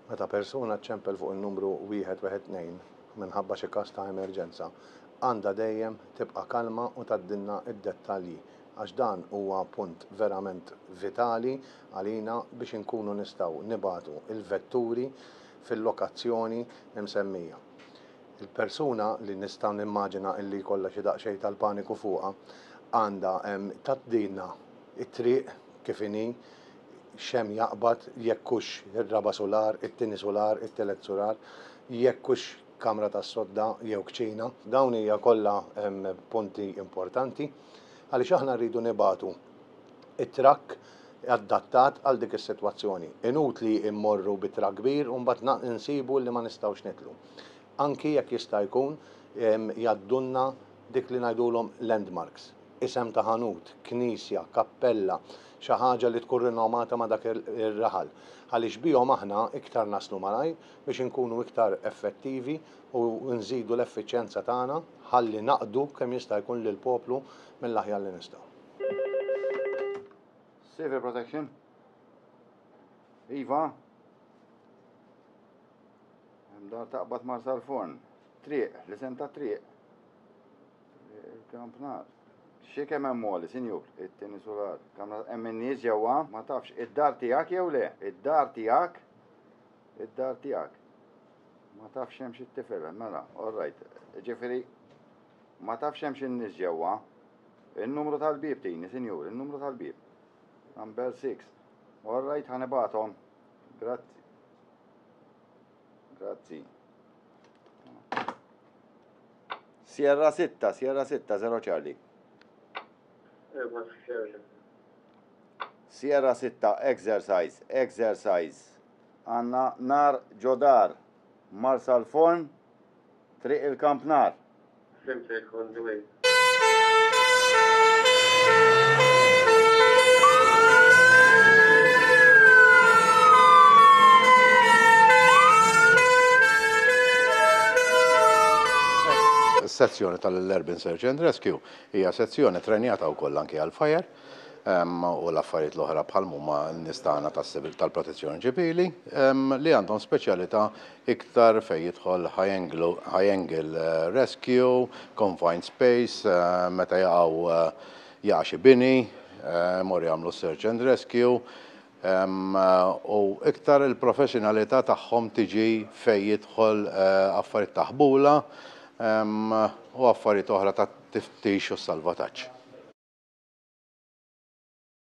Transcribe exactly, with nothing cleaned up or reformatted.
Meta persuna ċċempel fuq in-numru wieħed wieħed tnejn minħabba xi każ ta' emerġenza, għandha dejjem tibqa' kalma u tgħaddilna d-dettalji, għax dan huwa punt verament vitali għalina biex inkunu nistgħu nibagħtu il-vetturi fil-lokazzjoni imsemmija. Il-persuna li nista' nimmaġina illi jkollha xi daqsxejn tal-paniku fuqha għandha tgħaddilna it-triq kif inhi, x'hemm jaqbad, jekk hux ir-raba' sular, it-tieni sular, it-tielet sular, jekk hux kamra tas-sodda jew kċina. Dawn hija kollha punti importanti għaliex aħna rridu nibagħtu it-trakk adattat għal dik is-sitwazzjoni. Inutli immorru bi trakk kbir u mbagħad insibu li ma nistgħux nidħlu. Anki jekk jista' jkun jgħaddulna dik li ngħidulhom landmarks, isem ta' ħanut, knisja, kappella, xi ħaġa li tkun rinomata ma' dak ir-raħal. Għaliex bihom aħna iktar naslu malajr biex inkunu iktar effettivi u nżidu l-effiċjenza tagħna ħalli naqdu kemm jista' jkun lill-poplu mill-aħjar li nistgħu. Civil Protection. Iva. Hemm dar taqbad Marsalforn. Triq, l-isem ta' triq. Il-Kampnar. Xi kemm hemm għoli, sinjur, it-tieni sular. Kamra hemm in-nies ġewwa, ma tafx id-dar tiegħek jew le? Id-dar tiegħek? Id-dar tiegħek. Ma tafx hemm xi tifel, mela, all right. Ġifieri ma tafx hemm xi nies ġewwa. Il-numru tal-bieb tini, sinjur, il-numru tal-bieb. Number six. All right, ħa nibgħathom. Grazzi. Grazzi. Sierra sitta, Sierra sitta, zero Charlie. Sierra sitta, exercise, exercise. Għandna nar ġo dar, Marsalforn, Triq il-Kampnar. Fhimtek, on the way. Sezzjoni tal-Urban Search and Rescue hija sezzjoni trenjata wkoll anke għal-fire u l-affarijiet l-oħra bħal huma n-nies tagħna tal-protezzjoni ċivili li għandhom speċjalità iktar fejn jidħol high angle rescue, confined space, meta jaqgħu jaqa' xi bini, mor jagħmlu search and rescue, u iktar il-professjonalità tagħhom tiġi fejn jidħol affarijiet ta' ħbula u affarijiet oħra ta' tiftix u salvataġġ.